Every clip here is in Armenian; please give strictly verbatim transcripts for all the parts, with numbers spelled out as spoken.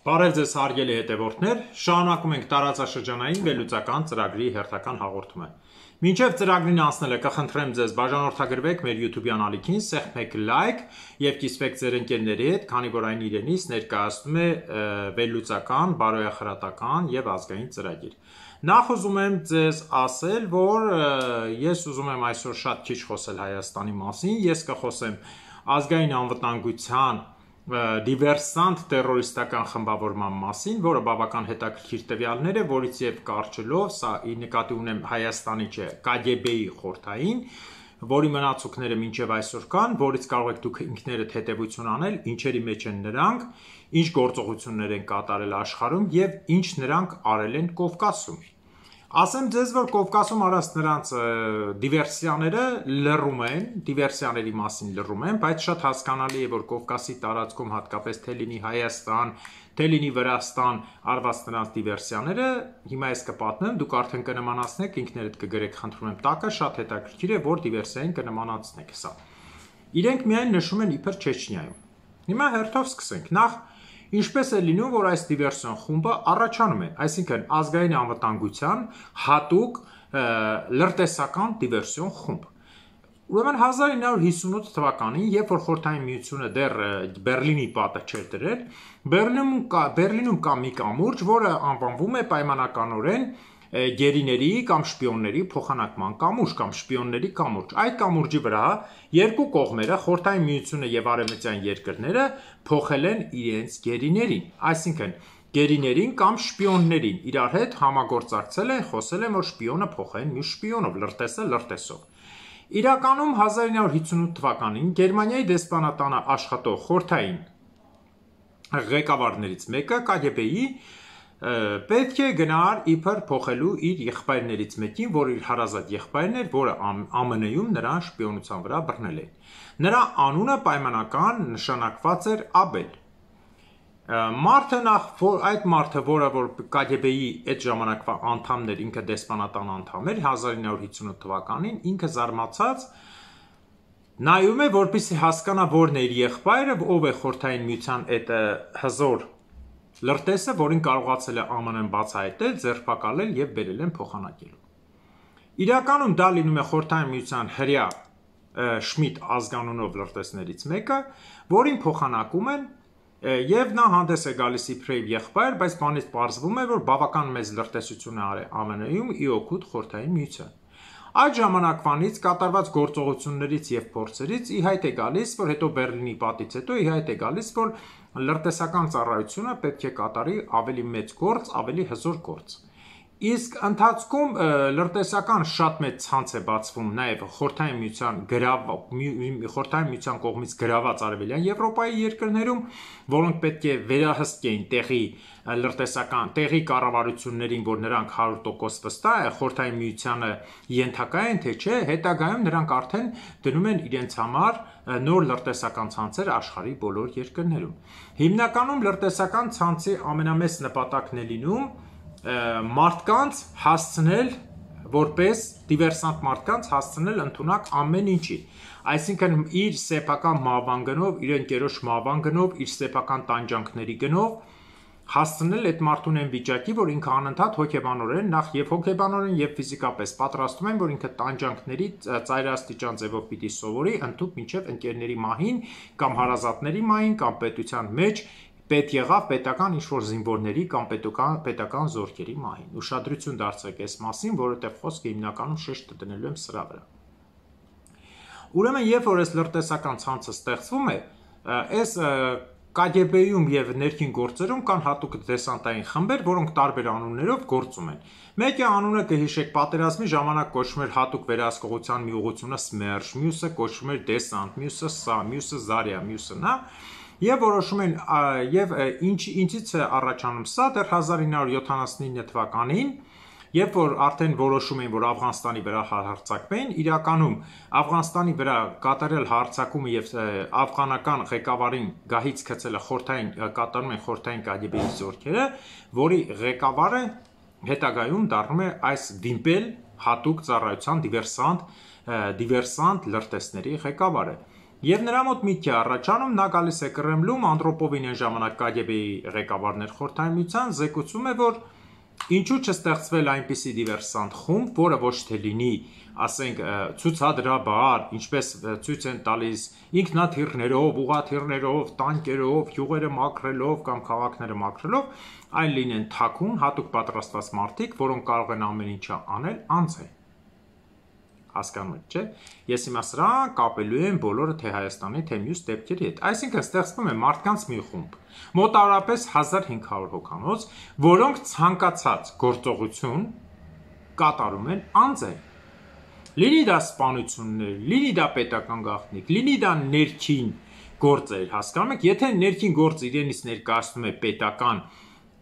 Բարև ձեզ հարգելի հետևորդներ, շարունակում ենք տարածաշրջանային վերլուծական ծրագրի հերթական հաղորդումը։ Մինչև ծրագրին անցնելը կխնդրեմ ձեզ բաժանորդագրվեք մեր YouTube-յան ալիքին, սեղմեք լայք եւ կիսվեք ձեր ընկերների հետ, քանի որ այն իրենից ներկայացնում է վերլուծական, բարոյախրատական եւ ազգային ծրագիր։ Նախ ուզում եմ ձեզ ասել, որ ես ուզում եմ այսօր շատ քիչ խոսել Հայաստանի մասին, ես կխոսեմ ազգային անվտանգության դիվերսանտ տերորիստական խմբավորման մասին, որը բավական հետաքրքիր տվյալներ է, որից եւ կարճելով, սա ի նկատի ունեմ Հայաստանի չէ, Կ Գ B-ի խորհրդային, որի մնացուկները մինչև այսօր կան, որից կարող եք դուք ինքներդ հետևություն անել, ինչերի մեջ են նրանք, ինչ գործողություններ են կատարել աշխարհում եւ ինչ նրանք արել են Կովկասում։ Ասեմ ձեզ, որ Կովկասում արած նրանց դիվերսիաները լռում են, դիվերսիաների մասին լռում են, բայց շատ հասկանալի է, որ Կովկասի տարածքում հատկապես թե լինի Հայաստան, թե լինի Վրաստան արված նրանց դիվերսիաները, հիմա ես կպատնեմ, դուք արդեն կնմանացնեք, ինքներդ կգրեք, խնդրում եմ տակը, շատ հետաքրքիր է, որ դիվերսիային կնմանացնեք սա։ Իրենք միայն նշում են իբր Չեչնիայում։ Հիմա հերթով սկսենք։ Նախ Ինչպես է լինում, որ այս դիվերսիոն խումբը առաջանում է, այսինքն ազգային անվտանգության հատուկ լրտեսական դիվերսիոն խումբ։ Ուրեմն հազար ինը հարյուր հիսունութ թվականին, երբ որ Խորհրդային Միությունը դեռ Բերլինի պատը չէր դրել, Բերլինում կա, Բերլինում կա մի կամուրջ, որը անվանվում է պայմանականորեն գերիների կամ շպիոնների փոխանակման կամուրջ կամ շպիոնների կամուրջ։ Այդ կամուրջի վրա երկու կողմերը, Խորհրդային Միությունը եւ Արևմտյան երկրները, փոխել են իրենց գերիներին, այսինքն գերիներին կամ շպիոններին իրար հետ համագործակցել են, խոսել են, որ շպիոնը փոխեն մյուս շպիոնով, լրտեսը լրտեսով։ Իրականում հազար ինը հարյուր հիսունութ թվականին Գերմանիայի դեսպանատանը աշխատող խորհրդային ղեկավարներից մեկը Կ Գ B-ի պետք է գնար իբր փոխելու իր եղբայրներից մեկին, որ իր հարազատ եղբայրն էր, որը Ամն Ում նրան շպիոնության վրա բռնել են։ Նրա անունը պայմանական նշանակված էր Աբել։ Մարդը նախ այդ մարդը, որը որ Կ Գ B-ի այդ ժամանակվա անդամն էր, ինքը դեսպանատան անդամ էր, հազար ինը հարյուր հիսունութ թվականին, ինքը զարմացած նայում է, որպեսզի հասկանա որն է իր եղբայրը, ով է Խորհրդային Միության այդ հզոր լրտեսը, որին կարողացել է Ամն Ն բացահայտել, ձերբակալել եւ բերել են փոխանակելու։ Իրականում դա լինում է Խորհրդային Միության հրյա Շմիդ ազգանունով լրտեսներից մեկը, որին փոխանակում են եւ նա հանդես է գալիս իբրև եղբայր, բայց բանից պարզվում է, որ բավական մեծ լրտեսություն է արել Ամն Ում ի օգուտ Խորհրդային Միության։ Այդ ժամանակվանից կատարված գործողություններից եւ փորձերից ի հայտ է գալիս, որ հետո Բերլինի պատից հետո ի հայտ է գալիս, որ լրտեսական ծառայությունը պետք է կատարի ավելի մեծ գործ, ավելի հզոր գործ։ Իսկ ընթացքում լրտեսական շատ մեծ ցանց է բացվում նաև Խորհրդային Միության գրավ Խորհրդային Միության կողմից գրաված Արևելյան Եվրոպայի երկրներում, որոնք պետք է վերահսկեին տեղի լրտեսական տեղի կառավարություններին, որ նրանք հարյուր տոկոս վստահ է Խորհրդային Միությանը ենթակա են, թե չէ, հետագայում նրանք արդեն դնում են իրենց համար նոր լրտեսական ցանցեր աշխարհի բոլոր երկրներում։ Հիմնականում լրտեսական ցանցի ամենամեծ նպատակն է լինում մարդկանց հասցնել, որպես դիվերսանտ մարդկանց հասցնել ընդունակ ամեն ինչի, այսինքն իր սեփական մահվան գնով, իր ընկերոջ մահվան գնով, իր սեփական տանջանքների գնով հասցնել այդ մարդուն այն վիճակի, որ ինքը անընդհատ հոգեբանորեն, նախ եւ հոգեբանորեն եւ ֆիզիկապես պատրաստում են, որ ինքը տանջանքների ծայրաստիճան ձևով պիտի սովորի, ընդհանուր մինչեւ ընկերների մահին կամ հարազատների մահին կամ պետության մեջ պետ եղավ պետական ինչ-որ զինվորների կամ պետական, պետական զորքերի մահին։ Ուշադրություն դարձրեք այս մասին, որովհետև խոսքը հիմնականում շեշտը դնելու եմ սրա վրա։ Ուրեմն, երբ որ այս լրտեսական ցանցը ստեղծվում է, այս Կ Գ B-ում եւ ներքին գործերում կան հատուկ դեսանտային խմբեր, որոնք տարբեր անուններով գործում են։ Մեկը անունը կհիշեք պատերազմի ժամանակ կոչվում էր հատուկ վերահսկողության մի ուղղությունը Սմերշ, մյուսը կոչվում էր դեսանտ, մյուսը սա, մյուսը Զարիա, մյուսը նա։ Եվ որոշում են եւ ինչ ինչից է առաջանում սա դեռ հազար ինը հարյուր յոթանասունինը թվականին Երբ որ արդեն որոշում էին, որ Աֆղանստանի վրա հարձակվեն, իրականում Աֆղանստանի վրա կատարել հարձակումը եւ աֆղանական ղեկավարին գահից գցելը խորհրդային կատարում են խորհրդային կագեբեի զորքերը, որի ղեկավարը հետագայում դառնում է այս վիմպել հատուկ ծառայության դիվերսանտ դիվերսանտ լրտեսների ղեկավարը։ Եվ նրա մոտ միտք է առաջանում, նա գալիս է Կրեմլում, Անդրոպովին այն ժամանակ կագեբեի ղեկավարներ խորհրդային միության, զեկուցում է, որ ինչու չստեղծվել այնպիսի դիվերսանտ խումբ, որը ոչ թե լինի, ասենք, ցուցադրաբար, ինչպես ցույց են տալիս ինքնաթիռներով, ուղաթիռներով, տանկերով, յուղերը մաքրելով կամ քաղաքները մաքրելով, այլ լինեն թաքուն, հատուկ պատրաստված մարդիկ, որոնք կարող են ամեն ինչը անել անձ է։ Հասկանում եք, չէ՞։ Ես հիմա սրան կապելու եմ բոլորը թե Հայաստանի, թե մյուս դեպքերի հետ։ Այսինքն ստեղծվում է մարդկանց մի խումբ, մոտավորապես հազար հինգ հարյուր հոգանոց, որոնք ցանկացած գործողություն կատարում են անձ է։ Լինի դա սպանություններ, լինի դա պետական գաղտնիք, լինի դա ներքին գործեր, հասկանում եք, եթե ներքին գործ իրենից ներկայացնում է պետական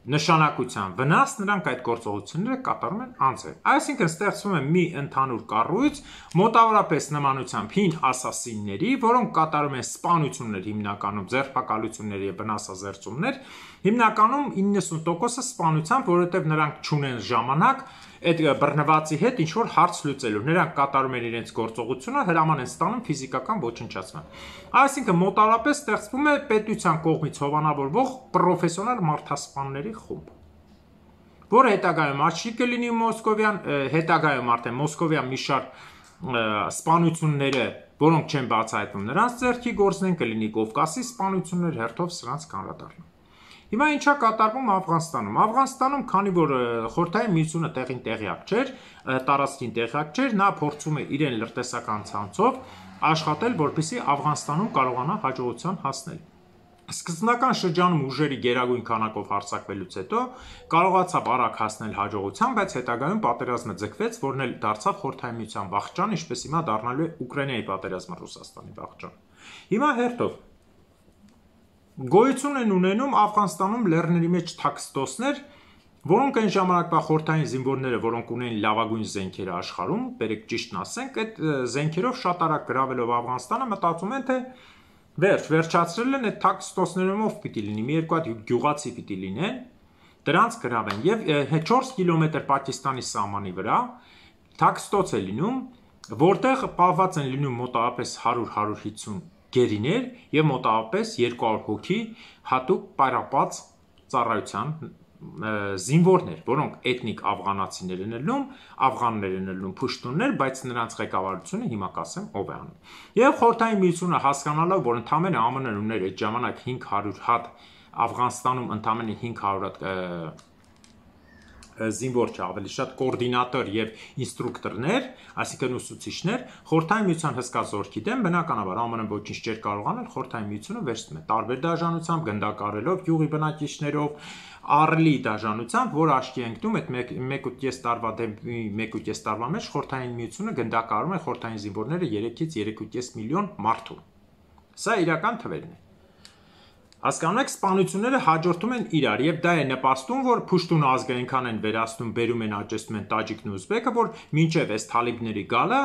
նշանակության վնաս, նրանք այդ գործողությունները կատարում են անձը։ Այսինքն ստեղծվում է մի ընդհանուր կառույց, մոտավորապես նմանությամբ հին ասասինների, որոնք կատարում են սպանություններ, հիմնականում ձերբակալություններ եւ վնասազերծումներ, հիմնականում իննսուն տոկոսը սպանությամբ, որովհետեւ նրանք չունեն ժամանակ այդ բռնվածի հետ ինչ որ հարց լուծելու։ Նրանք կատարում են իրենց գործողությունը, հրաման են ստանում ֆիզիկական ոչնչացման։ Այսինքն մոտավորապես ստեղծվում է պետության կողմից հովանավորվող պրոֆեսիոնալ մարդասպանների խումբ, որը հետագայում աչքի կլինի մոսկովյան, հետագայում արդեն մոսկովյան մի շարք սպանությունները, որոնք չեն բացահայտվում նրանց ձեռքի գործն են, կլինի Կովկասի սպանություններ, հերթով սրանց կանրադառնա։ Հիմա ինչա կատարվում Աֆղանստանում։ Աֆղանստանում, քանի որ խորհրդային միությունը տեղին տեղյակ չէր, տարածքին տեղյակ չէր, նա փորձում է իրեն լրտեսական ցանցով աշխատել, որպեսզի Աֆղանստանում կարողանա հաջողության հասնել։ Սկզբնական շրջանում ուժերի գերագույն քանակով հարձակվելուց հետո կարողացավ արագ հասնել հաջողության, բայց հետագայում պատերազմը ձգվեց, որն էլ դարձավ խորհրդային միության վախճան, ինչպես հիմա դառնալու է Ուկրաինայի պատերազմը Ռուսաստանի վախճան։ Հիմա հերթով գոյություն են ունենում Աֆղանստանում լեռների մեջ թաքստոսներ, որոնք այն ժամանակվա խորհրդային զինվորները, որոնք ունեն լավագույն զենքերը աշխարհում, բերեք ճիշտն ասենք, այդ զենքերով շատ արագ գրավելով Աֆղանստանը մտածում են, թե վերջ, վերջացրել են այդ թաքստոսներով պիտի լինի, մի երկու հատ գյուղացի պիտի լինեն, դրանց գրավեն եւ չորս կիլոմետր Պակիստանի սահմանի վրա թաքստոց է լինում, որտեղ պահված են լինում մոտավորապես հարյուր հարյուր հիսուն գերիներ եւ մոտավորապես երկու հարյուր հոգի հատուկ պարապած ծառայության զինվորներ, որոնք էթնիկ աֆղանացիներ են ելնում, աֆղաններ են ելնում, փուշտուններ, բայց նրանց ղեկավարությունը հիմա կասեմ ով է անում։ Եվ խորհրդային միությունը հասկանալով, որ ընդամենը ԱՄՆ-ն ուներ այդ ժամանակ հինգ հարյուր հատ Աֆղանստանում ընդամենը հինգ հարյուր հատ զինվոր չէ, ավելի շատ կոորդինատոր եւ ինստրուկտորներ, այսինքն ուսուցիչներ, խորհրդային միության հսկա զորքի դեմ բնականաբար ԱՄՆ-ն ոչինչ չէր կարող անել, խորհրդային միությունը վերցնում է տարբեր դաշնությամբ, գնդակարելով, յուղի բնակիչներով, առլի դաշնությամբ, որ աշկի ընկնում այդ մեկ ու կես տարվա դեմ մեկ ու կես տարվա մեջ խորհրդային միությունը գնդակարում է խորհրդային զինվորները երեքից երեք ու կես միլիոն մարդու։ Սա իրական թվերն է։ Հասկանում եք, սպանությունները հաջորդում են իրար եւ դա է նպաստում, որ Փուշտուն ազգայինքան են վերացնում, բերում են աճեցնում են տաջիկն ու ուզբեկը, որ մինչեւ այս թալիբների գալը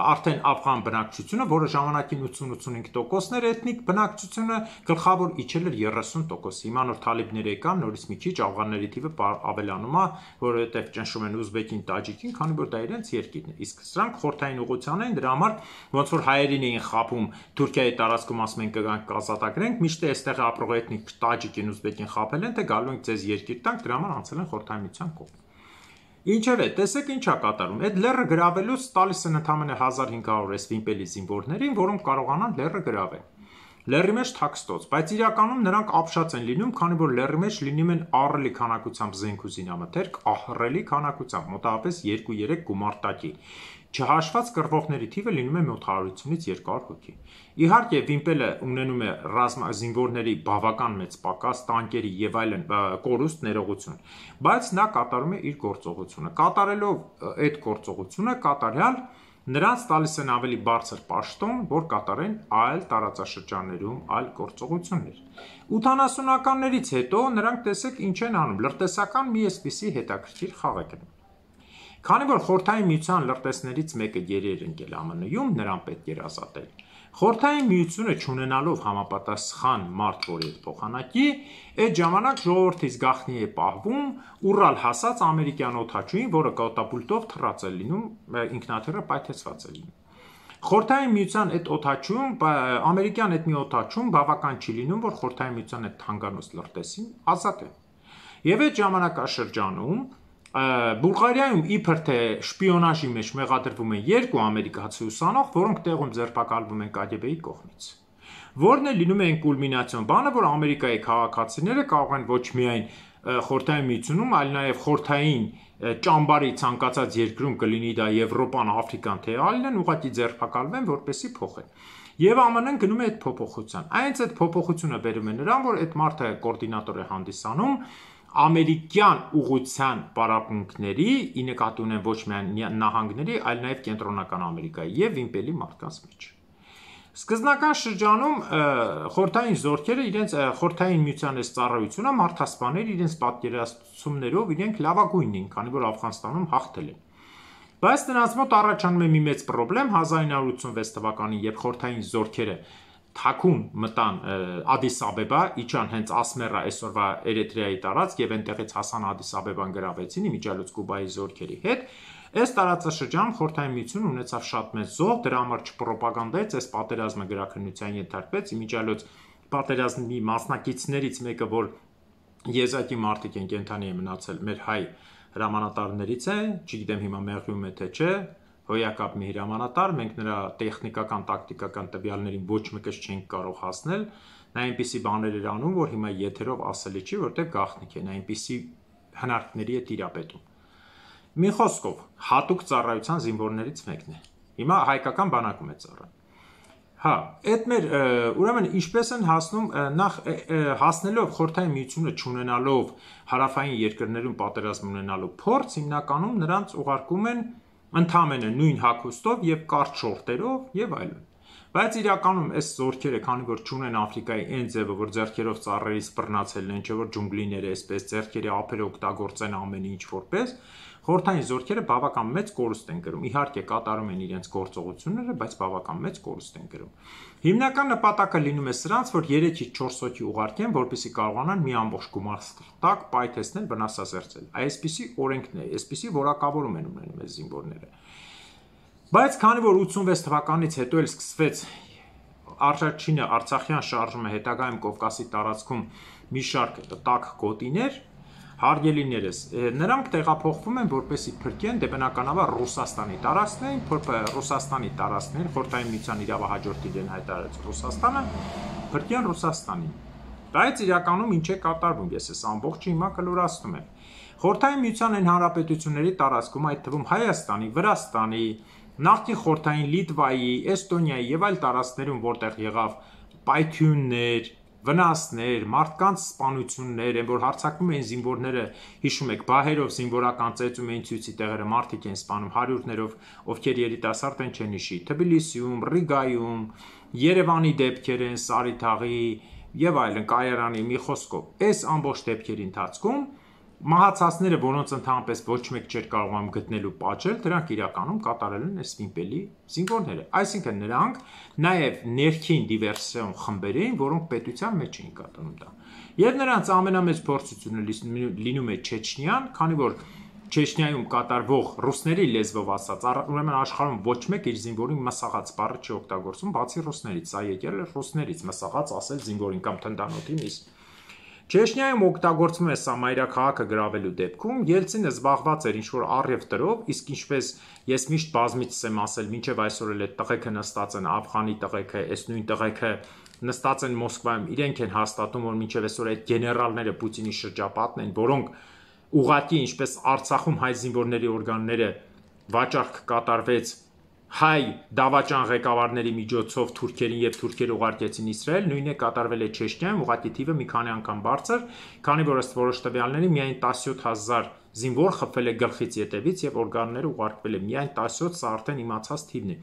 արդեն աֆղան բնակչությունը, որը ժամանակին ութսուն ութսունհինգ տոկոսն էր էթնիկ բնակչությունը, գլխավոր իջել էր երեսուն տոկոս։ Հիմա նոր թալիբները եկան, նորից մի քիչ աֆղանների թիվը ավելանում է, որովհետեւ ճնշում են ուզբեկին, տաջիկին, քանի որ դա իրենց երկիրն է։ Իսկ սրանք խորհրդային ուղղության են, դրա համար ոնց որ հայերին էին խափում Թուրքիայի տարածքում, ասում են կգանք կազատագրենք, միշտ այստեղ էթնիկ տաջիկին ուզբեկին խափել են, թե գալու ենք ձեզ երկիր տանք, դրա համար անցել են խորհրդային միության կողմ։ Ինչևէ, տեսեք ինչա կատարում։ Այդ լեռը գրավելուց տալիս են ընդամենը հազար հինգ հարյուր էս վիմպելի զինվորներին, որոնք կարողանան լեռը գրավել։ Լեռի մեջ թաքստոց, բայց իրականում նրանք ապշած են լինում, քանի որ լեռի մեջ լինում են ահռելի քանակությամբ զենք ու զինամթերք, ահռելի քանակությամբ, մոտավորապես երկու երեք գումարտակի։ Չհաշված կռվողների թիվը լինում է մոտ հարյուրից երկու հարյուր հոգի։ Իհարկե, վիմպելը ունենում է ռազմազինվորների բավական մեծ պակաս, տանկերի եւ այլն կորուստ ներողություն, բայց նա կատարում է իր գործողությունը։ Կատարելով այդ գործողությունը, կատարյալ նրանց տալիս են ավելի բարձր պաշտոն, որ կատարեն այլ տարածաշրջաններում այլ գործողություններ։ ութանասունականներից հետո նրանք տեսեք ինչ են անում, լրտեսական մի էսպիսի հետաքրքիր խաղ է գնում։ Քանի որ Խորհրդային Միության լրտեսներից մեկը գերի էր ընկել Է Մը Նի-ում, նրան պետք էր ազատել։ Խորհրդային Միությունը չունենալով համապատասխան մարդ, որի հետ փոխանակի, այդ ժամանակ ժողովրդից գաղտնի է պահվում ուռալ հասած ամերիկյան օդաչուին, որը կատապուլտով թռած է լինում, ինքնաթիռը պայթեցված է լինում։ Խորհրդային Միության այդ օդաչում, ամերիկյան այդ մի օդաչում բավական չի լինում, որ Խորհրդային Միության այդ թանկանոց լրտեսին ազատեն։ Եվ այդ ժամանակաշրջանում Բուլղարիայում իբր թե շպիոնաժի մեջ մեղադրվում են երկու ամերիկացի ուսանող, որոնք տեղում ձերբակալվում են Կա Գ Բ-ի կողմից։ Որն է լինում է այն կուլմինացիոն բանը, որ Ամերիկայի քաղաքացիները կարող են ոչ միայն Խորհրդային Միությունում, այլ նաև խորհրդային ճամբարի ցանկացած երկրում կլինի դա Եվրոպան, Աֆրիկան, թե այլն, ուղղակի ձերբակալվեն, որպեսզի փոխեն։ Եվ Է Մը Ն-ն գնում է այդ փոփոխության։ Այնց այդ փոփոխությունը բերում է նրան, որ այդ մարդը կոորդինատոր է հանդիսանում ամերիկյան ուղղության պարապմունքների, ի նկատի ունեն ոչ միայն նահանգների, այլ նաև կենտրոնական Ամերիկայի եւ Վիմպելի մարդկանց մեջ։ Սկզբնական շրջանում խորհրդային զորքերը իրենց Խորհրդային Միության այս ծառայությունը մարդասպաներ իրենց պատկերացումներով իրենք լավագույնն են, քանի որ Աֆղանստանում հաղթել են։ Բայց նրանց մոտ առաջանում է մի մեծ խնդրեմ հազար ինը հարյուր ութսուն վեց թվականին, երբ խորհրդային զորքերը թաքուն մտան Ադիս Աբեբա, իջան հենց Ասմերա, այսօրվա Էրիթրեայի տարածք եւ այնտեղից հասան Ադիս Աբեբան գրավեցին իմիջիալոց Կուբայի զորքերի հետ։ Այս տարածաշրջանում Խորհրդային Միությունը ունեցավ շատ մեծ զոհ, դրա համար չպրոպագանդայեց այս պատերազմը գրաքննության ենթարկվեց, իմիջիալոց պատերազմի մասնակիցներից մեկը, որ եզակի մարդիկ են կենթանի է մնացել, մեր հայ հրամանատարներից է, չգիտեմ հիմա մեղրում է թե չէ, հոյակապ մի հրամանատար, մենք նրա տեխնիկական, տակտիկական տվյալներին ոչ մեկս չենք կարող հասնել, նա այնպիսի բաներ էր անում, որ հիմա եթերով ասելի չի, որտեղ գաղտնիք է, նա այնպիսի հնարքների է տիրապետում։ Մի խոսքով, հատուկ ծառայության զինվորներից մեկն է։ Հիմա հայկական բանակում է ծառայում։ Հա, այդ մեր ուրեմն ինչպես են հասնում նախ հասնելով Խորհրդային Միությունը չունենալով հարավային երկրներում պատերազմ ունենալու փորձ, հիմնականում նրանց ուղարկում են ընդամենը նույն հագուստով եւ կարճ շորտերով եւ այլն։ Բայց իրականում այս զորքերը, քանի որ չունեն Աֆրիկայի այն ձևը, որ ձեռքերով ծառերից բռնացելն են, չէ որ ջունգլիները այսպես ձեռքերի ափերը օգտագործեն ամեն ինչ որպես, խորհրդային զորքերը բավական մեծ կորուստ են կրում։ Իհարկե կատարում են իրենց գործողությունները, բայց բավական մեծ կորուստ են կրում։ Հիմնական նպատակը լինում է սրանց, որ երեքից չորս հոգի ուղարկեն, որպեսզի կարողանան մի ամբողջ գումարտակ պայթեցնել, վնասազերծել։ Այսպիսի օրենքն է, այսպիսի որակավորում են ունենում այս զինվորները։ Բայց քանի որ ութսունվեց թվականից հետո էլ սկսվեց առաջինը Արցախյան շարժումը, հետագայում Կովկասի տարածքում մի շարք տաք գոտիներ, հարգելիներս, նրանք տեղափոխվում են, որպեսզի փրկեն դե բնականաբար Ռուսաստանի տարածքներին, Ռուսաստանի տարածքներին, Խորհրդային Միության իրավահաջորդ իրեն հայտարարեց Ռուսաստանը, փրկեն Ռուսաստանին։ Բայց իրականում ինչ է կատարվում, ես այս ամբողջը հիմա կլորացնում եմ։ Խորհրդային Միության այն հանրապետությունների տարածքում, այդ թվում Հայաստանի, Վրաստանի, նախկին Խորհրդային Լիտվայի, Էստոնիայի եւ այլ տարածքներում, որտեղ եղավ պայթյուններ, վնասներ, մարդկանց սպանություններ, են որ հարձակվում էին զինվորները, հիշում եք, բահերով զինվորական ծեծում էին ցույցի տեղերը, մարդիկ են սպանում հարյուրներով, ովքեր երիտասարդ են չեն հիշի, Թբիլիսիում, Ռիգայում, Երևանի դեպքեր են, Սարիթաղի եւ այլն, Կայարանի, մի խոսքով։ Այս ամբողջ դեպքերի ընթացքում մահացածները, որոնց ընդհանրապես ոչ մեկ չէր կարողանում գտնել ու պատժել, դրանք իրականում կատարել են այս Վիմպելի զինվորները։ Այսինքն նրանք նաև ներքին դիվերսիոն խմբեր էին, որոնք պետության մեջ էին կատարում դա։ Եվ նրանց ամենամեծ փորձությունը լինում է Չեչնիան, քանի որ Չեչնիայում կատարվող ռուսների լեզվով ասած, ուրեմն աշխարհում ոչ մեկ իր զինվորին մսաղաց բառը չի օգտագործում, բացի ռուսներից, սա եկել է ռուսներից, մսաղաց ասել զինվորին կամ թնդանոթի միս։ Չեչնիայում օգտագործվում է սա մայրաքաղաքը գրավելու դեպքում, Ելցինը զբաղված էր ինչ-որ առև տրով, իսկ ինչպես ես միշտ բազմիցս եմ ասել, մինչև այսօր էլ այդ տղեկը նստած են, Աֆղանի տղեկը, այս նույն տղեկը նստած են Մոսկվայում, իրենք են հաստատում, որ մինչև այսօր այդ գեներալները Պուտինի շրջապատն են, որոնք ուղղակի ինչպես Արցախում հայ զինվորների օրգանները վաճառք կատարվեց հայ դավաճան ղեկավարների միջոցով թուրքերին եւ թուրքերը ուղարկեցին Իսրայել, նույնը կատարվել է Չեչնիայում, ուղղակի թիվը մի քանի անգամ բարձր, քանի որ ըստ որոշ տվյալների միայն տասնյոթ հազար զինվոր խփվել է գլխից ետևից եւ օրգանները ուղարկվել է միայն տասնյոթ, սա արդեն իմացած թիվն է։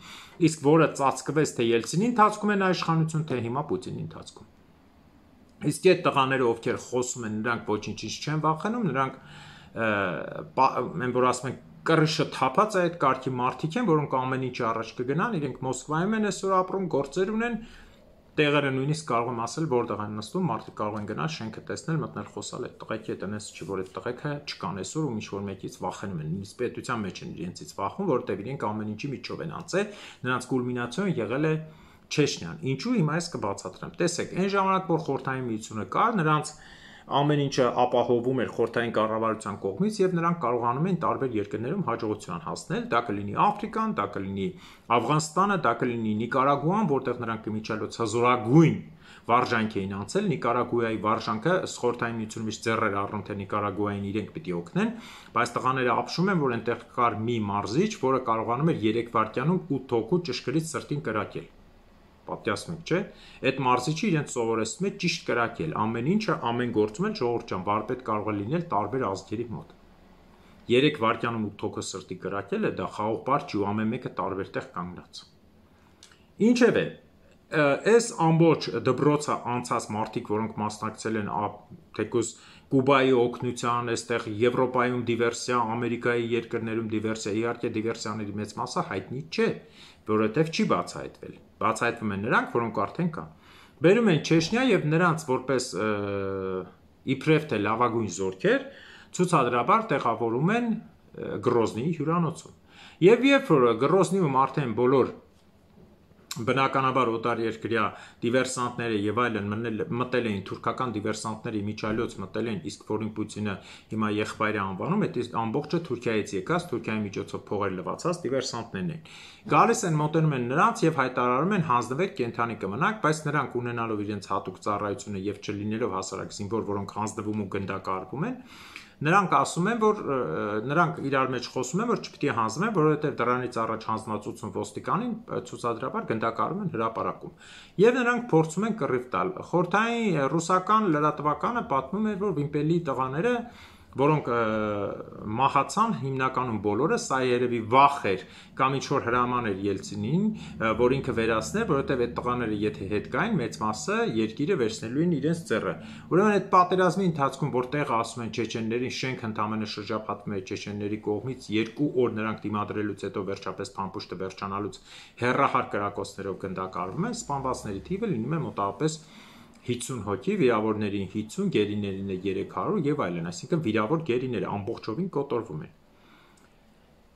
Իսկ որը ծածկվեց թե Ելցինի ընթացքում են իշխանություն, թե հիմա Պուտինի ընթացքում։ Իսկ այդ տղաները, ովքեր խոսում են, նրանք ոչինչից չեն վախենում, նրանք մենք որ ասում ենք կռիշը թափած է այդ կարգի մարդիկ են, որոնք ամեն ինչ առաջ կգնան, իրենք Մոսկվայում են այսօր ապրում, գործեր ունեն, տեղերը նույնիսկ կարող եմ ասել, որտեղ են նստում, մարդիկ կարող են գնալ, շենքը տեսնել, մտնել, խոսալ այդ տղեկի հետ, այնպես չի, որ այդ տղեկը չկան այսօր ու ինչ-որ մեկից վախենում են, նույնիսկ պետության մեջ են իրենցից վախում, որովհետև իրենք ամեն ինչի միջով են անցել, նրանց կուլմինացիոն եղել է Չեչնիան։ Ինչու հիմա ես կբացատրեմ։ Տեսեք, այն ժամանակ, որ Խորհրդային Միությունը կար, նրանց ամեն ինչը ապահովում էր խորհրդային կառավարության կողմից եւ նրանք կարողանում են տարբեր երկրներում հաջողության հասնել, դա կլինի Աֆրիկան, դա կլինի Աֆղանստանը, դա կլինի Նիկարագուան, որտեղ նրանք իմիջիալոց հզորագույն վարժանք էին անցել, Նիկարագուայի վարժանքը խորհրդային միությունում իշ ձեռեր առնում թե Նիկարագուային իրենք պիտի օգնեն, բայց տղաները ապշում են, որ այնտեղ կար մի մարզիչ, որը կարողանում էր երեք վայրկյանում ութ հոգու ճշգրիտ սրտին կրակել։ Պատյասնում չէ, այդ մարզիչը իրենց սովորեցնում է ճիշտ կրակել, ամեն ինչը, ամեն գործում էլ ժողովուրդ ջան, վարպետ կարող է լինել տարբեր ազգերի մոտ։ երեք վայրկյանում ութ հոգու սրտի կրակելը դա խաղող բար չի ու ամեն մեկը տարբեր տեղ կանգնած։ Ինչևէ, այս ամբողջ դբրոցը անցած մարդիկ, որոնք մասնակցել են թեկուզ Կուբայի օգնության, այստեղ Եվրոպայում դիվերսիա, Ամերիկայի երկրներում դիվերսիա, իհարկե դիվերսիաների մեծ մասը հայտնի չէ, որովհետև չի բացահայտվել։ Բացահայտվում են նրանք, որոնք արդեն կան։ Բերում են Չեչնիա եւ նրանց որպես իբրև թե լավագույն զորքեր ցուցադրաբար տեղավորում են Գրոզնիի հյուրանոցում։ Եվ երբ որ Գրոզնիում արդեն բոլոր բնականաբար օտարերկրյա դիվերսանտները եւ այլն մտել էին թուրքական դիվերսանտների միջալոց մտել են, իսկ որին Պուտինը հիմա եղբայրը անվանում, այդ ամբողջը Թուրքիայից եկած, Թուրքիայի միջոցով փողեր լվացած դիվերսանտներն են։ Գալիս են, մոտենում են նրանց եւ հայտարարում են հանձնվեք կենթանի կմնաք, բայց նրանք ունենալով իրենց հատուկ ծառայությունը եւ չլինելով հասարակ զինվոր, որոնք հանձնվում ու գնդակահարվում են, նրանք ասում են, որ նրանք իրար մեջ խոսում են, որ չպիտի հանձնվեն, որովհետև դրանից առաջ հանձնածություն ոստիկանին ցուցադրաբար գնդակարում են հրապարակում։ Եվ նրանք փորձում են կռիվ տալ։ Խորհրդային ռուսական լրատվականը պատմում էր, որ Վիմպելի տղաները, որոնք մահացան հիմնականում բոլորը, սա երևի վախ էր կամ ինչ-որ հրաման էր Ելցինին, որ ինքը վերացներ, որովհետև այդ տղաները եթե հետ գային, մեծ մասը երկիրը վերցնելու են իրենց ձեռը։ Ուրեմն այդ պատերազմի ընթացքում, որտեղ ասում են չեչեններին, շենք ընդամենը շրջափակվում է չեչենների կողմից, երկու օր նրանք դիմադրելուց հետո վերջապես փամփուշտը վերջանալուց հերրախար կրակոցներով գնդակարվում են, սպանվածների թիվը լինում է մոտավորապես հինգսուն հոգի, վիրավորներին հինգսուն, գերիներին երեք հարյուր եւ այլն, այսինքն վիրավոր գերիները ամբողջովին կոտորվում են։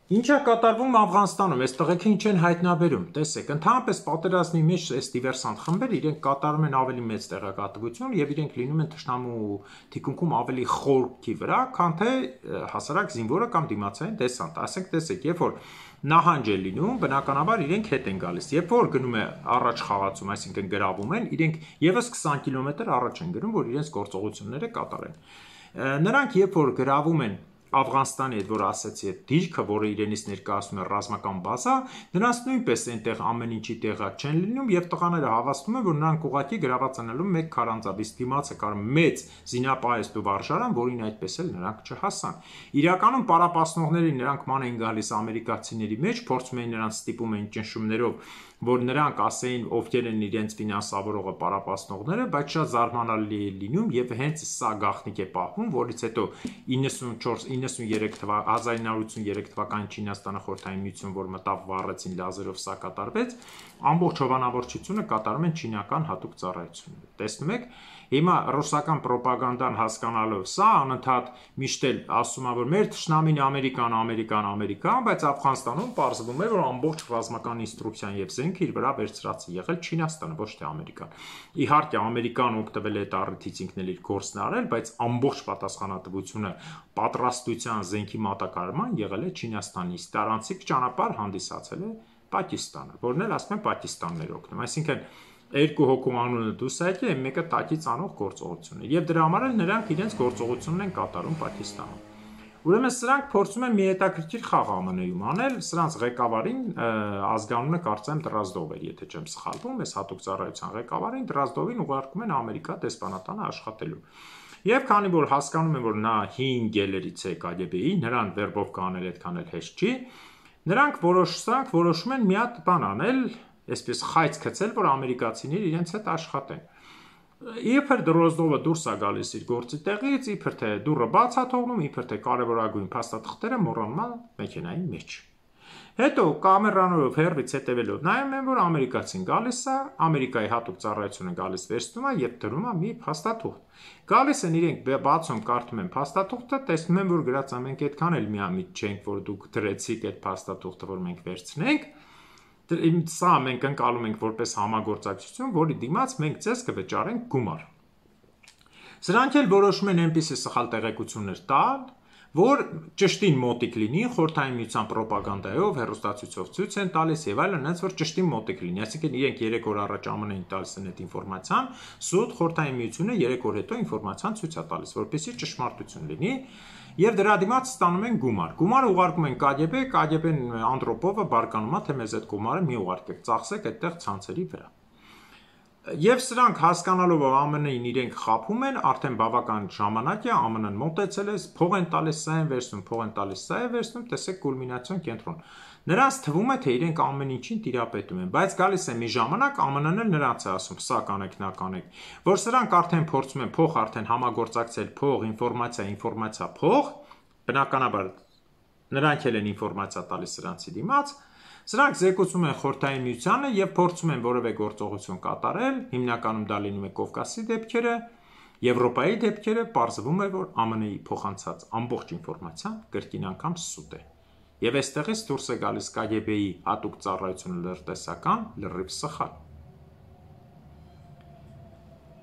Ինչ է կատարվում Աֆղանստանում, այս տղեկը ինչ են հայտնաբերում, տեսեք, ընդհանրապես պատերազմի մեջ այս դիվերսանտ խմբերը իրենք կատարում են ավելի մեծ տեղեկատվություն եւ իրենք լինում են թշնամու թիկունքում ավելի խորքի վրա, քան թե հասարակ զինվորը կամ դիմացային դեսանտ։ Ասենք տեսեք, երբ որ նահանջ է լինում, բնականաբար իրենք հետ են գալիս։ Երբ որ գնում է առաջ խաղացում, այսինքն գրավում են, իրենք եւս քսան կիլոմետր առաջ են գնում, որ իրենց գործողությունները կատարեն։ Նրանք երբ որ գրավում են Աֆղանստանի հետ, որ ասացի, այդ դիրքը, որը իրենից ներկայացնում է ռազմական բազա, նրանց նույնպես այնտեղ ամեն ինչի տեղա չեն լինում եւ տղաները հավաստում են, որ նրանք ուղղակի գրաված են ալում մեկ քարանձավ, իսկ դիմացը կար մեծ զինապահեստ ու վարժարան, որին այդպես էլ նրանք չհասան։ Իրականում պարապասնողների նրանք ման են գալիս ամերիկացիների մեջ, փորձում էին նրանց ստիպում էին ճնշումներով, որ նրանք ասեին ովքեր են իրենց ֆինանսավորողը պարապասնողները, բայց շատ զարմանալի է լինում եւ հենց սա գաղտնիք է պահվում, որից հետո իննսունչորս իննսուներեք թվականի հազար ինը հարյուր ութսուներեք թվականին Չինաստանը խորհրդային միություն, որ մտավ վառեցին լազերով, սա կատարվեց, ամբողջ հովանավորչությունը կատարում են չինական հատուկ ծառայությունները։ Տեսնում եք, հիմա ռուսական ռոպագանդան հասկանալով սա անընդհատ միշտ էլ ասում է, որ մեր թշնամին Ամերիկան, Ամերիկան, Ամերիկան, բայց Աֆղանստանում պարզվում է, որ ամբողջ ռազմական ինստրուկցիան եւ զենքը իր վրա վերցրած է եղել Չինաստանը, ոչ թե Ամերիկան։ Իհարկե Ամերիկան օգտվել է այդ առիթից ինքն էլ իր գործն արել, բայց ամբողջ պատասխանատվությունը պատրաստության զենքի մատակարարման եղել է Չինաստանի, իսկ տարանցիկ ճանապարհ հանդիսացել է Պակիստանը, որն էլ ասում են Պակիստաններ օգնում, այսինքն երկու հոգու անունը դուս այդի է մեկը տակից անող գործողություն է եւ դրա համար էլ նրանք իրենց գործողությունն են կատարում Պակիստանում։ Ուրեմն սրանք փորձում են մի հետաքրքիր խաղ ԱՄՆ-ում անել, սրանց ղեկավարին ազգանունը կարծեմ Դրազդով էր, եթե չեմ սխալվում, այս հատուկ ծառայության ղեկավարին Դրազդովին ուղարկում են Ամերիկա դեսպանատանը աշխատելու։ Եվ քանի որ հասկանում են, որ նա հին գելերից է Կ Գ B-ի, նրան վերբով կանել այդքան էլ հեշտ չի, նրանք որոշանք որոշում են մի հատ բան անել, այսպես խայծ գցել, որ ամերիկացիները իրենց հետ աշխատեն։ Իբր Դրոզդովը դուրս է գալիս իր գործի տեղից, իբր թե դուռը բաց է թողնում, իբր թե կարևորագույն փաստաթղթերը մոռանում է մեքենայի մեջ։ Հետո կամերաներով հեռվից հետևելով նայում են, որ ամերիկացին գալիս է, Ամերիկայի հատուկ ծառայությունը գալիս վերցնում է եւ դրում է մի փաստաթուղթ։ Գալիս են իրենք բացում կարդում են փաստաթուղթը, տեսնում են, որ գրած է մենք այդքան էլ միամիտ չենք, որ դուք դրեցիք այդ փաստաթուղթը, որ մենք վերցնենք։ Սա մենք ընկալում ենք որպես համագործակցություն, որի դիմաց մենք ձեզ կվճարենք գումար։ Սրանք էլ որոշում են այնպիսի սխալ տեղեկություններ տալ, որ ճշտին մոտիկ լինի, Խորհրդային Միության պրոպագանդայով, հեռուստացույցով ցույց են տալիս եւ այլն, այնց որ ճշտին մոտիկ լինի, այսինքն իրենք երեք օր առաջ Ա Մ Ն-ին տալիս են այդ ինֆորմացիան, սուտ Խորհրդային Միությունը երեք օր հետո ինֆորմացիան ցույց է տալիս, որպեսզի ճշմարտություն լինի, եւ դրա դիմաց ստանում են գումար։ Գումարը ուղարկում են Կ Գ Բ, Կ Գ Բ-ն Անդրոպովը բարկանում է, թե մեզ այդ գումարը մի ուղարկեք, ծախսեք այդտեղ ցանցերի վրա։ Եվ սրանք հասկանալով Ա Մ Ն-ին իրենք խաբում են, արդեն բավական ժամանակ է, Ա Մ Ն-ն մոտեցել է, փող են տալիս, սա են վերցնում, փող են տալիս, սա է վերցնում, տեսեք կուլմինացիոն կենտրոն։ Նրանց թվում է, թե իրենք ամեն ինչին տիրապետում են, բայց գալիս է մի ժամանակ, Ա Մ Ն-ն էլ նրանց է ասում, սա կանեք, նա կանեք, որ սրանք արդեն փորձում են փող արդեն համագործակցել, փող, ինֆորմացիա, ինֆորմացիա, փող, բնականաբար նրանք էլ են ինֆորմացիա տալիս սրանցի դիմաց, սրանք զեկուցում են Խորհրդային Միությանը եւ փորձում են որևէ գործողություն կատարել, հիմնականում դա լինում է Կովկասի դեպքերը, Եվրոպայի դեպքերը, պարզվում է, որ Ա Մ Ն-ի փոխանցած ամբողջ ինֆորմացիան կրկին անգամ սուտ է։ Եվ այստեղից դուրս է գալիս Կ Գ Բ-ի հատուկ ծառայությունը լրտեսական լրիվ սխալ։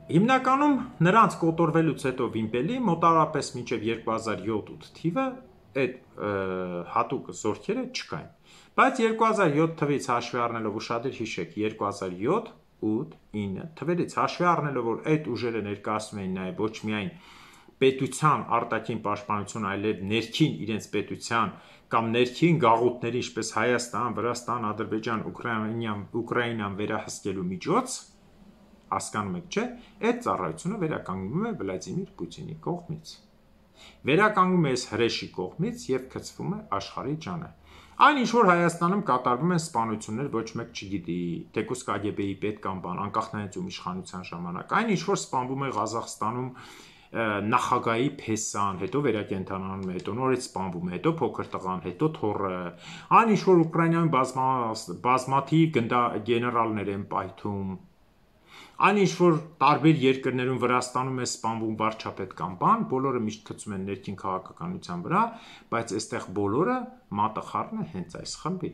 Հիմնականում նրանց կոտորվելուց հետո վիմպելի մոտավորապես մինչև երկու հազար յոթ թիվը այդ հատուկ զորքերը չկային։ Բայց երկու հազար յոթ թվից հաշվի առնելով ուշադիր հիշեք երկու հազար յոթ, ութ, ինը թվերից հաշվի առնելով որ այդ ուժերը ներկայացնում էին նաև ոչ միայն պետության արտաքին պաշտպանություն, այլև ներքին իրենց պետության կամ ներքին գաղութների, ինչպես Հայաստան, Վրաստան, Ադրբեջան, Ուկրաինան, Ուկրաինան վերահսկելու միջոց, հասկանում եք, չէ՞, այդ ծառայությունը վերականգնվում է Վլադիմիր Պուտինի կողմից։ Վերականգնում է այս հրեշի կողմից եւ գցվում է աշխարհի ջանը։ Այն ինչ որ Հայաստանում կատարվում են սպանություններ, ոչ մեկ չգիտի, թեկուզ Կ Գ Բ-ի պետ կամ բան, անկախնայից ում իշխանության ժամանակ։ Այն ինչ որ սպանվում է Ղազախստանում նախագահի փեսան, հետո վերակենդանանում է, հետո նորից սպանվում է, հետո փոքր տղան, հետո թոռը։ Այն ինչ որ Ուկրաինայում բազմա բազմաթիվ գնդա գեներալներ են պայթում, այն ինչ որ տարբեր երկրներում Վրաստանում է սպանվում վարչապետ կամ բան, բոլորը միշտ գցում են ներքին քաղաքականության վրա, բայց այստեղ բոլորը մատը խառն է հենց այս խմբի,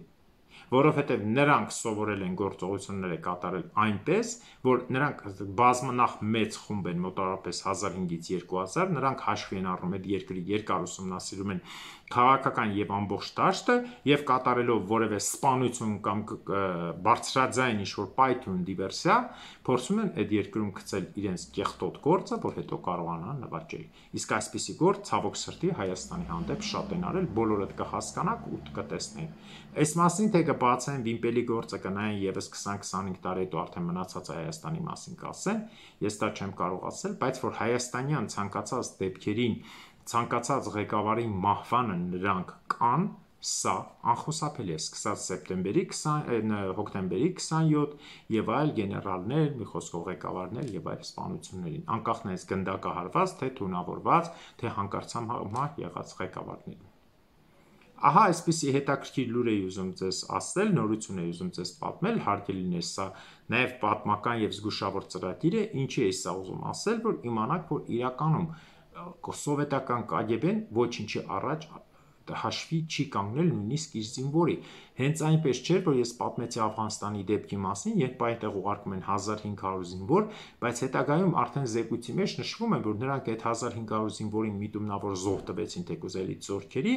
որովհետև նրանք սովորել են գործողությունները կատարել այնպես, որ նրանք բազմնախ մեծ խումբ են մոտավորապես հազար հինգից երկու հազար, նրանք հաշվի են առնում այդ երկրի երկար ուսումնասիրում են քաղաքական եւ ամբողջ դաշտը եւ կատարելով որևէ սպանություն կամ բարձրաձայն ինչ-որ պայթյուն դիվերսիա, փորձում են այդ երկրում գցել իրենց կեղտոտ գործը, որ հետո կարողանան նվաճել։ Իսկ այսպիսի գործ ցավոք սրտի Հայաստանի հանդեպ շատ են արել, բոլորդ կհասկանաք ու կտեսնեն։ Այս մասին թե կբացեն վիմպելի գործը կնային եւս քսան քսանհինգ տարի հետո արդեն մնացած Հայաստանի մասին կասեն, ես դա չեմ կարող ասել, բայց որ հայաստանյան ցանկացած դեպքերին ցանկացած ղեկավարի մահվանը նրանք կան, սա անխուսափելի է, սկսած սեպտեմբերի քսան, հոկտեմբերի քսանյոթ եւ այլ գեներալներ, մի խոսքով ղեկավարներ եւ այլ սպանություններին, անկախնայից գնդակահարված, թե թունավորված, թե հանկարծամահ եղած ղեկավարներին։ Ահա այսպիսի հետաքրքիր լուր էի ուզում ձեզ ասել, նորություն էի ուզում ձեզ պատմել, հարկելի է սա նաեւ պատմական եւ զգուշավոր ծրագիր է, ինչի է սա ուզում ասել, որ իմանաք, որ իրականում սովետական Կ Գ Բ-ն ոչինչի առաջ հաշվի չի կանգնել նույնիսկ իր զինվորի։ Հենց այնպես չէր, որ ես պատմեցի Աֆղանստանի դեպքի մասին, երբ այնտեղ ուղարկում են հազար հինգ հարյուր զինվոր, բայց հետագայում արդեն զեկույցի մեջ նշվում է, որ նրանք այդ հազար հինգ հարյուր զինվորին միտումնավոր զոհ տվեցին թեկուզ էլիտ զորքերի,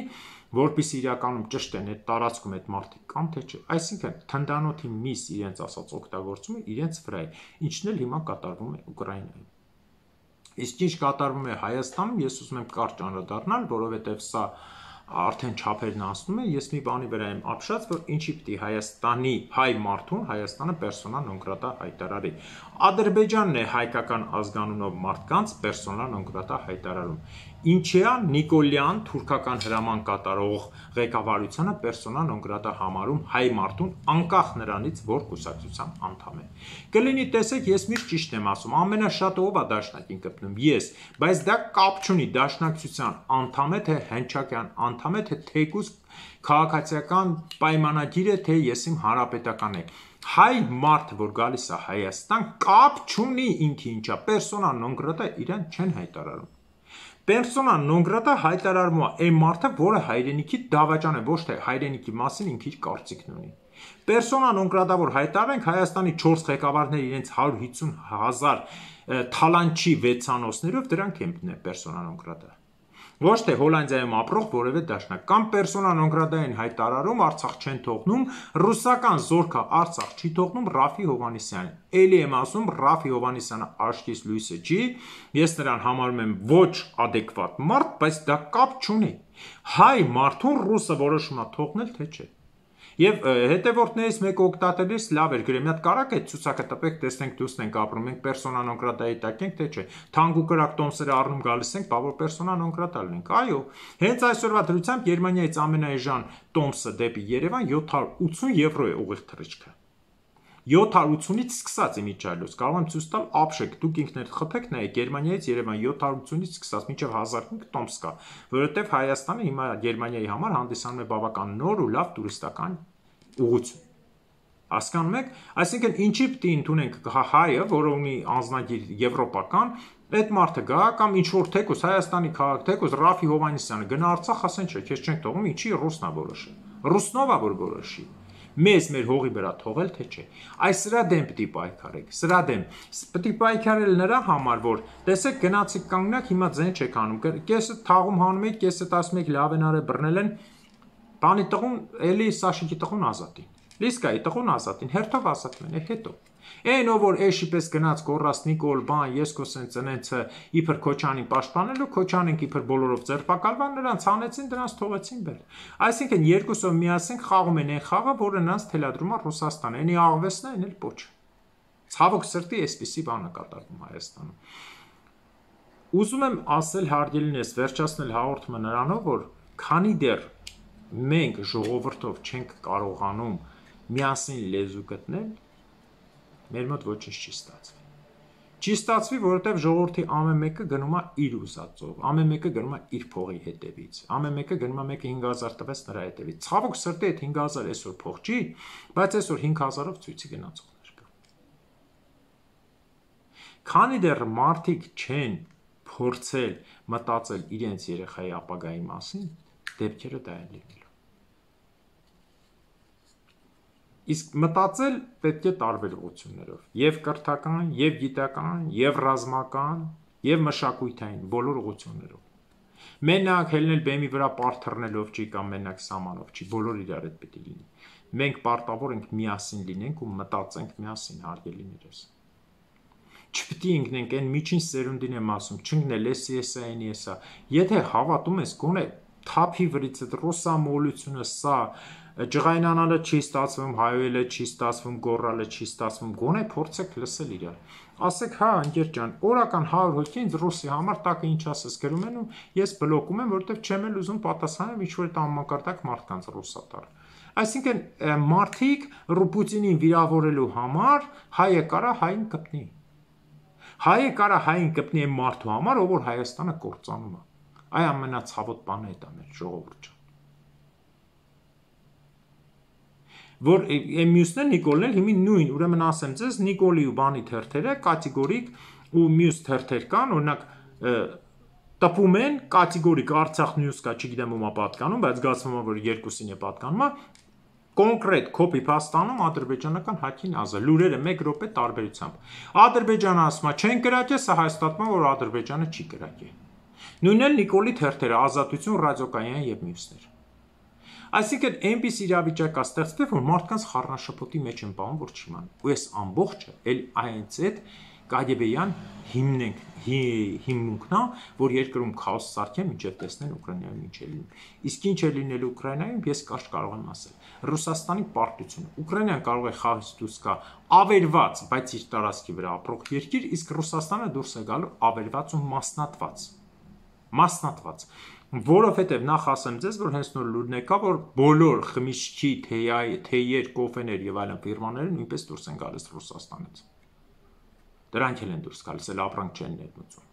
որպեսզի իրականում ճշտեն այդ տարածքում այդ մարդիկ կան թե չէ։ Այսինքն թնդանոթի միս իրենց ասած օգտագործումը իրենց վրա է, ինչն էլ հիմա կատարվում է Ուկրաինայում։ Իսկ ինչ կատարվում է Հայաստանում, ես ուզում եմ կարճ անդրադառնալ, որովհետև սա արդեն չափերն անցնում է, ես մի բանի վրա եմ ապշած, որ ինչի պիտի Հայաստանի հայ մարդուն Հայաստանը persona non grata հայտարարի։ Ադրբեջանն է հայկական ազգանունով մարդկանց persona non grata հայտարարում։ Ինչիա Նիկոլյան թուրքական հրաման կատարող ղեկավարությանը persona non grata համարում հայ մարդուն անկախ նրանից, որ կուսակցության անդամ է։ Կլինի տեսեք, ես միշտ ճիշտ եմ ասում, ամենաշատը ով է դաշնակին կպնում, ես, բայց դա կապ չունի դաշնակցության անդամ է, թե հնչակյան անդամ է, թե թեկուզ քաղաքացիական պայմանագիր է, թե ես իմ հանրապետական է։ Հայ մարդը, որ գալիս է Հայաստան, կապ չունի ինքը ինչա, persona non grata իրան չեն հայտարարում։ Persona non grata հայտարարվում է այն մարդը, որը հայրենիքի դավաճան է, ոչ թե հայրենիքի մասին ինքը իր կարծիքն ունի։ Persona non grata որ հայտարարենք Հայաստանի չորս ղեկավարներ իրենց հարյուր հիսուն հազար թալանչի վեցանոցներով դրանք են persona non grata։ Ոչ թե Հոլանդիայում ապրող որևէ դաշնակ կամ persona non grata են հայտարարում, Արցախ չեն թողնում, ռուսական զորքը Արցախ չի թողնում Ռաֆի Հովհաննիսյանին։ Էլի եմ ասում, Ռաֆի Հովհաննիսյանը աչքիս լույսը չի, ես նրան համարում եմ ոչ adekvat մարդ, բայց դա կապ չունի։ Հայ մարդուն ռուսը որոշում է թողնել, թե չէ։ Եվ հետևորդներից մեկը օգտատերից լավ էր գրել, մի հատ կարակ այդ ցուցակը տպեք, տեսնենք դուս ենք ապրում, մենք persona non grata-ի տակ ենք, թե չէ։ Թանկ ու կրակ տոմսերը առնում գալիս ենք, բա որ persona non grata լինենք։ Այո, հենց այսօրվա դրությամբ Գերմանիայից ամենաէժան տոմսը դեպի Երևան յոթ հարյուր ութուն եվրո է ուղիղ թռիչքը։ յոթ հարյուր ութունից սկսած իմիջիալոց, կարող եմ ցույց տալ ապշեք, դուք ինքներդ խփեք նայեք Գերմանիայից Երևան յոթ հարյուր ութունից սկսած մինչև հազար հինգ տոմս կա, որովհետև Հայաստանը հիմա Գերմանիայի համար հանդիսանում է բավական նոր ու լավ տուրիստական ուղղություն։ Հասկանում եք, այսինքն ինչի պիտի ընդունենք հայը, որը ունի անձնագիր եվրոպական, այդ մարդը գա կամ ինչ որ թեկուզ Հայաստանի քաղաք, թեկուզ Ռաֆի Հովհաննիսյանը գնա Արցախ, ասեն չէ, քեզ չենք թողում, ինչի ռուսնա որոշի։ Ռուսնովա որ որոշի։ Մեզ մեր հողի վրա թողել թե չէ։ Այս սրա դեմ պիտի պայքարեք, սրա դեմ պիտի պայքարել նրա համար, որ տեսեք գնացիք կանգնակ, հիմա ձեն չեք անում, կեսը թաղում հանում եք, կեսը ասում եք լավ են արել բռնել են, բանի տղուն, էլի Սաշիկի տղուն ազատին, Լիսկայի տղուն ազատին, հերթով ազատվեն, է հետո։ Այն ով որ էշի պես գնաց կորած Նիկոլ բան, ես կոսեն ծնեցը իբր Քոչանին պաշտպանելու, Քոչանենք իբր բոլորով ձերբակալվան, նրանց հանեցին, դրանց թողեցին բեր։ Այսինքն երկուսով միասին խաղում են այն խաղը, որը նրանց թելադրում է Ռուսաստանը, այնի աղվեսն է, այն էլ պոչ։ Ցավոք սրտի այսպիսի բան է կատարվում Հայաստանում։ Ուզում եմ ասել հարգելինես, վերջացնել հաղորդումը նրանով, որ քանի դեռ մենք ժողովրդով չենք կարողանում միասին լեզու գտնել, մեր մոտ ոչինչ չի ստացվի։ Չի ստացվի, որովհետև ժողովրդի ամեն մեկը գնում է իր ուզածով, ամեն մեկը գնում է իր փողի հետևից, ամեն մեկը գնում է մեկը հինգ հազար տվեց նրա հետևից։ Ցավոք սրտի այդ հինգ հազար այսօր փող չի, բայց այսօր հինգ հազարով ցույցի գնացողներ կա։ Քանի դեռ մարդիկ չեն փորձել մտածել իրենց երեխայի ապագայի մասին, դեպքերը դա են լինելու։ Իսկ մտածել պետք է տարբեր ուղղություններով, եւ կրթական, եւ գիտական, եւ ռազմական, եւ մշակութային, բոլոր ուղղություններով։ Մենակ հելնել բեմի վրա պարթռնելով չի կամ մենակ սամանով չի, բոլոր իրար հետ պետք է լինի։ Մենք պարտավոր ենք միասին լինենք ու մտածենք միասին, հարգելիներս։ Չպետք է ընկնենք այն միջին սերունդին եմ ասում, չընկնել էսի էսա այնի էսա։ Եթե հավատում ես գոնե թափի վրից այդ ռուսամոլությունը սա ջղայնանալը չի ստացվում, հայոյելը չի ստացվում, գոռալը չի ստացվում, գոնե փորձեք լսել իրար։ Ասեք, հա, ընկեր ջան, օրական հարյուր հոգի ինձ ռուսի համար տակը ինչ ասես գրում են ու ես բլոկում եմ, որովհետև չեմ էլ ուզում պատասխանել ինչ-որ տամակարտակ մարդկանց ռուսատար։ Այսինքն մարդիկ Պուտինին վիրավորելու համար հայը կարա հային կպնի։ Հայը կարա հային կպնի այն մարդու համար, ով որ Հայաստանը կործանում է։ Այ ամենացավոտ բանը է դա մեր ժողովուրդ ջան։ Որ մյուսն է Նիկոլն էլ հիմի նույն, ուրեմն ասեմ ձեզ, Նիկոլի ու բանի թերթերը կատեգորիկ ու մյուս թերթեր կան, օրինակ տպում են կատեգորիկ Արցախ News կա, չգիտեմ ումա պատկանում, բայց զգացվում է որ երկուսին է պատկանում, կոնկրետ copy paste-անում ադրբեջանական հակին ազը, լուրերը մեկ րոպե տարբերությամբ։ Ադրբեջանը ասում է, չեն կրակել, սա հայտարարում որ Ադրբեջանը չի կրակել։ Նույնն էլ Նիկոլի թերթերը, Ազատություն, Ռադիոկայան եւ մյուսներ։ Այսինքն այնպես իրավիճակ է ստեղծվել, որ մարդկանց խառնաշփոթի մեջ են պահում, որ չիման։ Ու այս ամբողջը էլ այնց այդ Կագեբեյան հիմնենք հիմնունքն է, որ երկրում քաոս սարքեն մինչև տեսնեն Ուկրաինայում ինչ է լինում։ Իսկ ինչ է լինելու Ուկրաինայում, ես կարճ կարող եմ ասել։ Ռուսաստանի պարտությունը։ Ուկրաինան կարող է խաղից դուրս գա ավերված, բայց իր տարածքի վրա ապրող երկիր, իսկ Ռուսաստանը դուրս է գալու ավերված ու մասնատված։ Մասնատված, որովհետև նախ ասեմ ձեզ, որ հենց նոր լուրն եկա, որ բոլոր խմիչքի, թեյեր, կոֆեներ եւ այլն ֆիրմաները նույնպես դուրս են գալիս Ռուսաստանից։ Դրանք էլ են դուրս գալիս, էլ ապրանք չեն ներմուծում։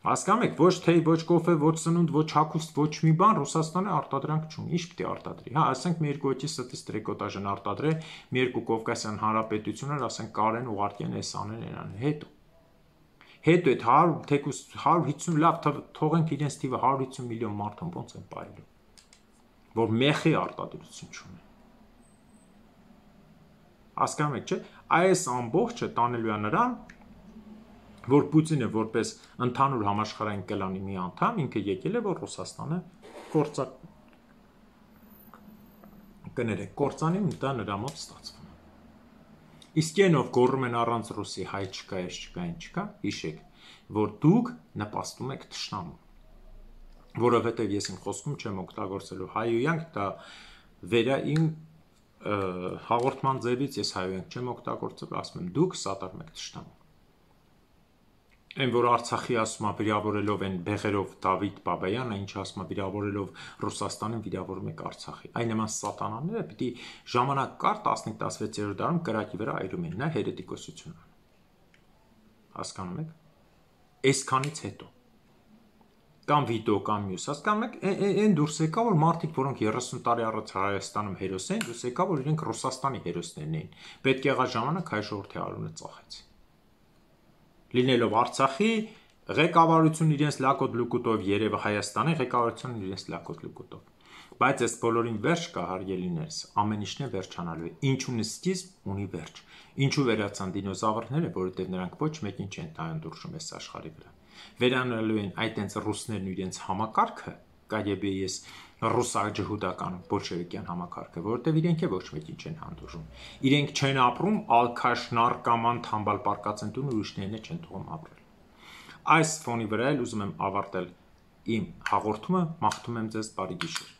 Հասկանում եք, ոչ թեյ, ոչ կոֆե, ոչ սնունդ, ոչ հագուստ, ոչ մի բան Ռուսաստանը արտադրանք չունի, ինչ պիտի արտադրի։ Հա, ասենք մի երկու հոգի ստից տրեկոտաժն արտադրե, մի երկու Կովկասյան հանրապետություններ, ասենք կարեն ուղարկեն էս անեն նրան, հետո։ Հետո այդ հարյուր, թեկուզ հարյուր հիսուն լավ թողենք իրենց թիվը հարյուր հիսուն միլիոն մարդուն ոնց են պայելու, որ մեխի արտադրություն չունեն։ Հասկանում եք, չէ՞։ Այս ամբողջը տանելու է նրան, որ Պուտինը որպես ընդհանուր համաշխարհային կլանի մի անդամ ինքը եկել է, որ Ռուսաստանը կործա կներեք, կործանի ու դա նրա մոտ ստացվում է։ Իսկ ենով գոռում են առանց ռուսի հայ չկա, ես չկա, ինչ չկա, հիշեք, որ դուք նպաստում եք թշնամուն, որովհետև ես իմ խոսքում չեմ օգտագործելու հայոյանք, դա վերա իմ հաղորդման ձևից ես հայոյանք չեմ օգտագործել, ասում եմ դուք սատարում եք թշնամուն։ Այն որ Արցախի ասում է վիրավորելով են բեղերով Դավիթ Բաբայանը, ինչ ասում է վիրավորելով Ռուսաստանին վիրավորում եք Արցախի։ Այն նման սատանաները պիտի ժամանակ կար տասնինը տասնվեցերորդ դարում կրակի վրա այրում են, նա հերետիկոսություն է։ Հասկանում եք։ Այսքանից հետո կամ վիդեո կամ մյուս, հասկանում եք, այն դուրս եկա, որ մարդիկ, որոնք երեսուն տարի առաջ Հայաստանում հերոս են, դուրս եկա, որ իրենք Ռուսաստանի հերոսներն էին։ Պետք եղա ժամանակ հայ ժողովրդի արունը ծախեց։ Լինելով Արցախի ղեկավարություն իրենց լակոտ լուկուտով, երևը Հայաստանի ղեկավարություն իրենց լակոտ լուկուտով։ Բայց այս բոլորին վերջ կա, հարգելիներս, ամեն ինչն է վերջանալու է։ Ինչ ունի սկիզբ, ունի վերջ։ Ինչու վերացան դինոզավրները, որովհետև նրանք ոչ մեկին չեն տայանդուրժում այս աշխարհի վրա։ Վերանալու են այդ այնց ռուսներն ու իրենց համակարգը, կայեբեես ռուսաջհուդական բոլշևիկյան համակարգը, որովհետև իրենք է ոչ մեկին չեն հանդուրժում։ Իրենք չեն ապրում, ալքաշ, նարկաման, թամբալ պարկած են տուն ու ուրիշներն չեն թողում ապրել։ Այս ֆոնի վրա էլ ուզում եմ ավարտել իմ հաղորդումը, մաղթում եմ ձեզ բարի գիշեր։